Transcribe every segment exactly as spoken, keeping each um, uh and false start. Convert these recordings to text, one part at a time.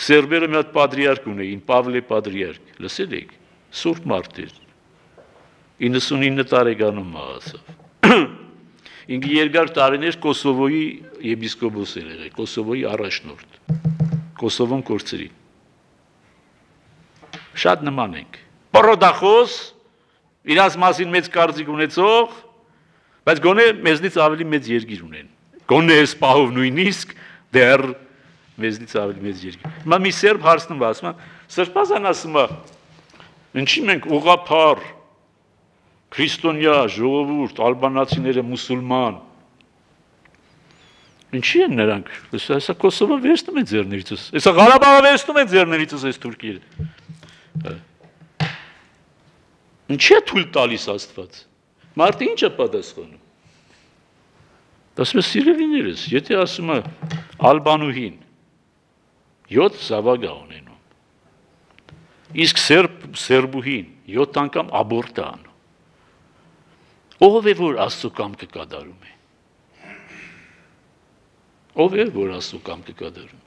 Սերբերը մի հատ պատրիարք ունեին, Պավլե պատրիարք, լսել եք, սուրբ մարդ էր, իննսունինը տարեկանում մահացավ։ Ինքը երկար տարիներ Կոսովոյի եպիսկոպոս էր եղել, Կոսովոյի առաջնորդ, Կոսովոն կորցրի։ Շատ նման ենք, պրոդախոս, իրաց մասին մեծ կարծիք ունեցող, բայց գոնե մեզնից ավելի մեծ երկիր ունեն, գոնե այս պահով նույնիսկ դեռ մեզնից ավելի մեծ երկիր։ Հիմա մի սերբ հարցնում է, ասում է, սրբազան ասում է, ինչի մենք ուղղափառ, քրիստոնյա, ժողովուրդ, ալբանացիները մուսուլման, ինչի են նրանք, հեսա Կոսովը վերցնում են ձեռներիցս, հեսա Ղարաբաղը վերցնում են ձեռներիցս այս թուրքերը։ Ինչի է թույլ տալիս Աստված, մարդը ինչ է պատասխանում։ Ասում է սիրելիներս, եթե ասում է ալբանուհին, յոթ զավակ է ունենում, իսկ սերբ սերբուհին յոթ անգամ աբորտ է անում, ով է որ Աստծո կամքը կատարում է, ով է որ Աստծո կամքը կատարում է,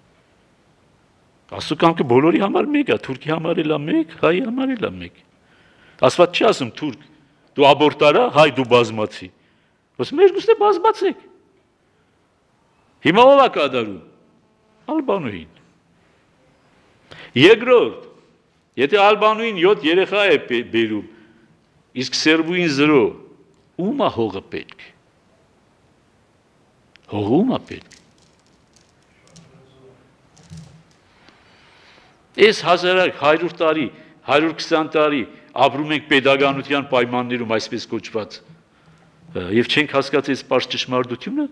Աստծո կամքը բոլորի համար մեկ է, թուրքի համար էլ է մեկ, հայի համար էլ է մեկ, Աստված չի ասում թուրք, դու աբորտ արա, հայ դու բազմացի, ասում երկուսն է բազմացեք, հիմա ով է կատարում, ալբանուհին, երկրորդ, եթե ալբանուհին յոթ երեխա է բերում, իսկ սերբուհին զրո, ում է հողը պետք, հողը ում է պետք, այս հազարակ հարյուր տարի, հարյուր քսան տարի ապրում ենք պետականության պայմաններում այսպես կոչված և չենք հասկացել պարզ ճշմարտությունը,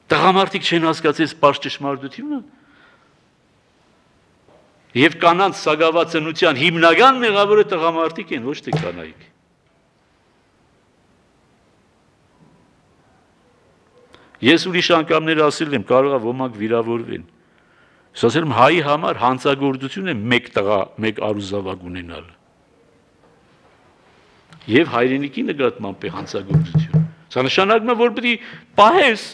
տղամարդիկ չեն հասկացել պարզ ճշմարտությունը և կանանց սագավա ծնության հիմնական մեղավորը տղամարդիկ են, ոչ թե կանայք։ Ես ուրիշ անգամներ ասել եմ, կարող է ոմանք վիրավորվեն, ասել եմ հայի համար հանցագործություն է մեկ տղա, մեկ արուզավակ ունենալ և հայրենիքի նկատմամբ է հանցագործություն, սա նշանակում է, որ պետք է պահես,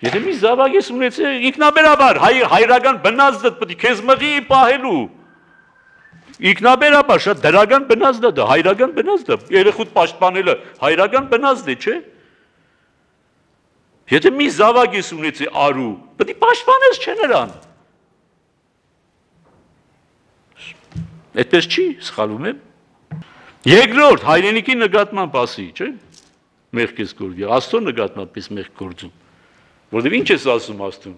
եթե մի զավակ ես ունեցել, ինքնաբերաբար, հայրական բնազդդ պետք է քեզ մղի պահելու, ինքնաբերաբար, շատ դրական բնազդ է դա, հայրական բնազդ է, երեխուդ պաշտպանելը հայրական բնազդ է, չէ։ Եթե մի զավակ ես ունեցել արու, պետք է պաշտպանես չէ նրան։ Այդպես չի, սխալվում եմ։ Երկրորդ, հայրենիքի նկատմամբ ասի, չէ, մեղք ես գործի, Աստծո նկատմամբ ես մեղք գործում, որտև ինչ ես ասում Աստծուն,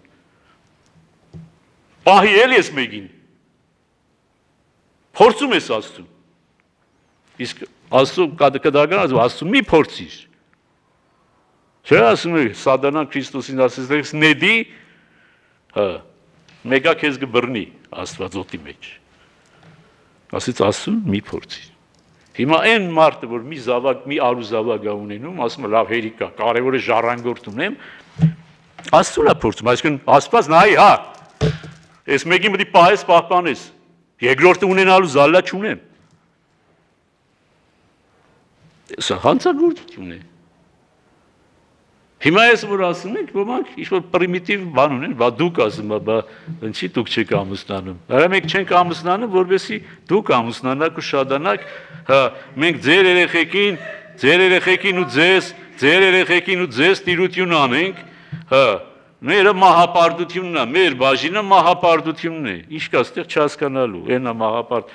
պահի էլ ես մեկին, փորձում ես Աստծուն, իսկ Աստծո կդական ասում, Աստծուն մի փորձիր, չէ ասում է սատանան Քրիստոսին ասես նեդի, մեկա քեզ կբռնի Աստված օդի մեջ, ասից Աստծուն մի փորձիր։ Հիմա այն մարդը, որ մի զավակ, մի արու զավակ է ունենում, ասում է լավ հերիք է, կարևոր է ժառանգորդ ունեմ, Աստծուն է փորձում, այսինքն Աստված նայի, հա, այս մեկին պետք է պահես, պահպանես, երկրորդը ունենալու զալլա չունեմ։ Սա հանցագործություն է։ Հիմա ես որ ասում ենք, ոմանք ինչ-որ պրիմիտիվ բան ունեն, բա դուք ասում, բա ինչի դուք չեք ամուսնանում։ Հələ մենք չենք ամուսնանում, որովհետեւ դուք ամուսնանաք ու շատանաք, հա, մենք ձեր երեխեքին, ձեր երեխեքին ու ձեզ, ձեր երեխեքին ու ձեզ տիրություն անենք, հա, մերը մահապարտությունն է, մեր բաժինը մահապարտությունն է։ Ինչ կա, այստեղ չհասկանալու, այնա մահապարտ։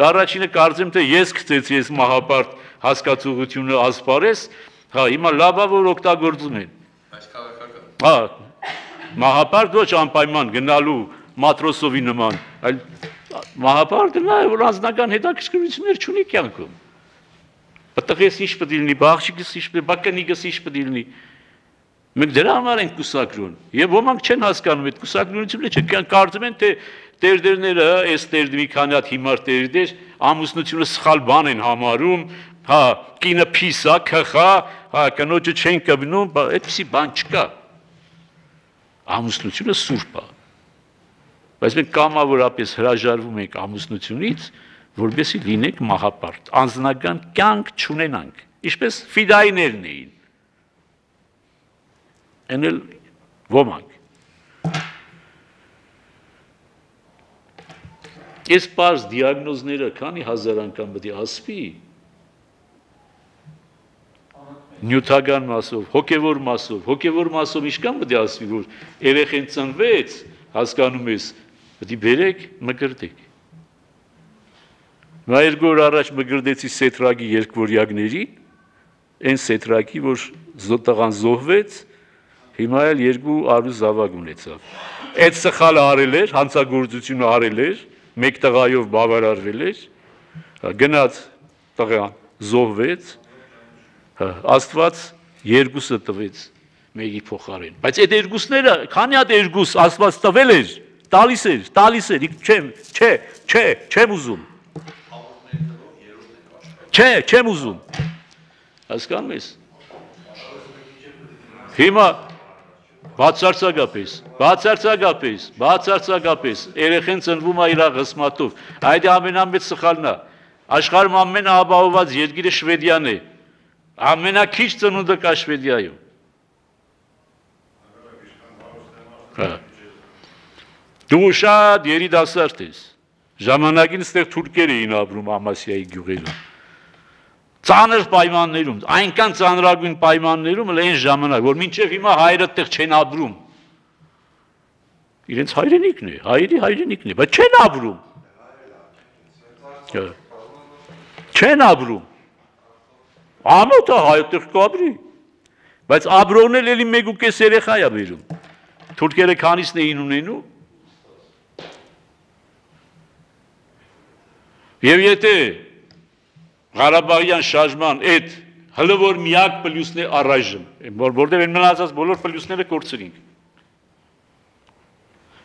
Առաջինը կարծեմ թե ես գցեցի այս մահապարտ հասկացողությունը ասպարես, հա, հիմա լավա որ օգտագործում են։ Բայց քաղաքական։ Հա, մահապարտ ոչ անպայման գնալու մատրոսովի նման, այլ մահապարտը նա է, որ անձնական հետաքրքրություններ չունի կյանքում։ Պտղես ինչ պետք է լինի, բաղջիկս ինչ պետք է, բակնիկս ինչ պետք է լինի։ Մենք դրա համար ենք կուսակրուն, եւ ոմանք չեն հասկանում այդ կուսակրությունը, չէ, կարծում են թե տերդերները, այս տերդ մի քանի հատ հիմար տերդեր, ամուսնությունը սխալ բան են համարում, հա, կինը փիսա, քխա, հա, կնոջը չեն կբնում, այդպիսի բան չկա։ Ամուսնությունը սուրբ է։ Բայց մենք կամավորապես հրաժարվում ենք ամուսնությունից, որպեսզի լինենք մահապարտ, անձնական կյանք չունենանք, ինչպես ֆիդայիներն էին։ Են էլ ոմանք։ Այս բարձ դիագնոզները քանի հազար անգամ պետք է ասվի։ Նյութական մասով, հոգևոր մասով, հոգևոր մասով ինչքան պետք է ասվի, որ երեխեն ծնվեց, հասկանում ես, պետք է բերեք, մկրտեք։ Նա երկու օր առաջ մկրտեցի Սեթրագի երկվորյակների, այն Սեթրագի, որ տղան զոհվեց, հիմա էլ երկու արու զավակ ունեցավ։ Այդ սխալը արել էր, հանցագործությունը արել էր, մեկ տղայով բավարարվել էր, գնաց տղան զոհվեց, Աստված երկուսը տվեց մեկի փոխարեն, բայց այդ երկուսները, քանի հատ երկուս Աստված տվել էր, տալիս էր, տալիս էր, չեմ, չէ, չէ, չեմ ուզում։ Չէ, չեմ ուզում։ Հասկանում ես։ Հիմա բացարձակապես, բացարձակապես, բացարձակապես երեխեն ծնվում է իր ղսմատով։ Այդ ամենամեծ սխալն է։ Աշխարհում ամենաապահովված երկիրը Շվեդիան է։ Ամենաքիչ ծնունդը կա Շվեդիայում։ Դու շատ երիտասարդ ես։ Ժամանակին ստեղ թուրքեր էին ապրում Ամասիայի գյուղերում։ Ծանր պայմաններում, այնքան ծանրագույն պայմաններում էլ այն ժամանակ, որ մինչև հիմա հայրը տեղ չեն ապրում։ Իրենց հայրենիքն է, հայերի հայրենիքն է, բայց չեն ապրում։ Չեն ապրում։ Ամոթը հայտեղ կաբրի, բայց աբրողն էլ էլի մեկ ու կես երեխա է բերում, թուրքերը քանիսն էին ունենում, և եթե Ղարաբաղյան շարժման այդ հլը որ միակ պլյուսն է առայժմ, որտեղ են մնացած բոլոր պլյուսները կորցրինք,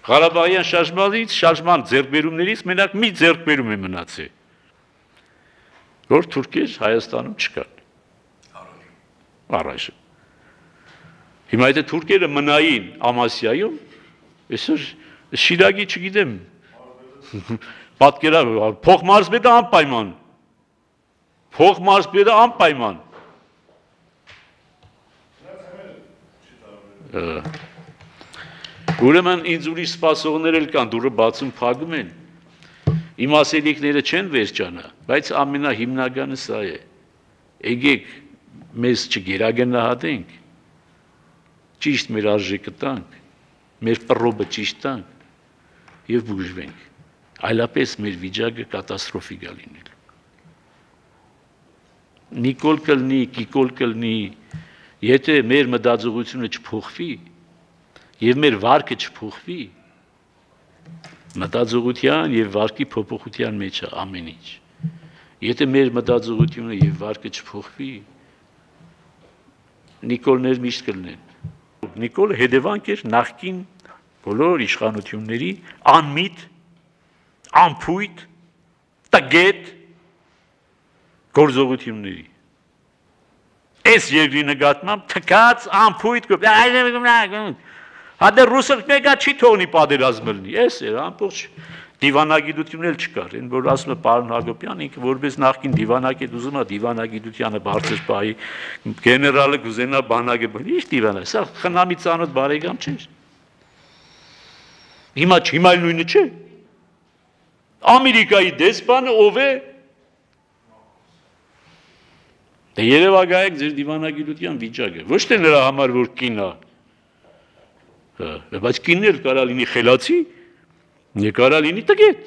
Ղարաբաղյան շարժմանից, շարժման ձեռքբերումներից մենակ մի ձեռքբերում է մնացել, որ թուրքեր Հայաստանում չկան։ Առայժմ։ Հիմա եթե թուրքերը մնային Ամասիայում, այսօր Շիրակի չգիտեմ, պատկերա, փոխմարզպետը անպայման, փոխմարզպետը անպայման։ Ուրեմն ինձ ուրիշ սպասողներ էլ կան, դուրը բացում փակում են, իմ ասելիքները չեն վերջանա, բայց ամենահիմնականը սա է, եկեք մեզ չգերագնահատենք, ճիշտ մեր արժեքը տանք, մեր պռոբը ճիշտ տանք և բուժվենք, այլապես մեր վիճակը կատաստրոֆիկ է լինել։ Նիկոլ կլնի, կիկոլ կլնի, եթե մեր մտածողությունը չփոխվի և մեր վարքը չփոխվի, մտածողության և վարկի փոփոխության մեջ է ամեն ինչ։ Եթե մեր մտածողությունը և վարկը չփոխվի, Նիկոլներ միշտ կլնեն։ Նիկոլը հետևանք էր նախկին բոլոր իշխանությունների անմիտ, անփույթ, տգետ գործողությունների։ Այս երկրի նկատմամբ թքած անփույթ հատե ռուսը մեկա չի թողնի պատերազմ լինի, այս էր ամբողջ դիվանագիտությունն էլ չկար, այն որ ասում է պարոն Հակոբյան, ինքը որպես նախկին դիվանագետ ուզում է դիվանագիտությանը բարձր պահի, գեներալը կուզենա բանակը բնի, ի՞նչ դիվանա, սա խնամի ծանոթ բարեկամ չէր։ Հիմա հիմա նույնը չէ։ Ամերիկայի դեսպանը ով է։ Դե երևակայեք ձեր դիվանագիտության վիճակը, ոչ թե նրա համար որ կին է։ Բայց կինն էլ կարա լինի խելացի, կարա լինի տգետ։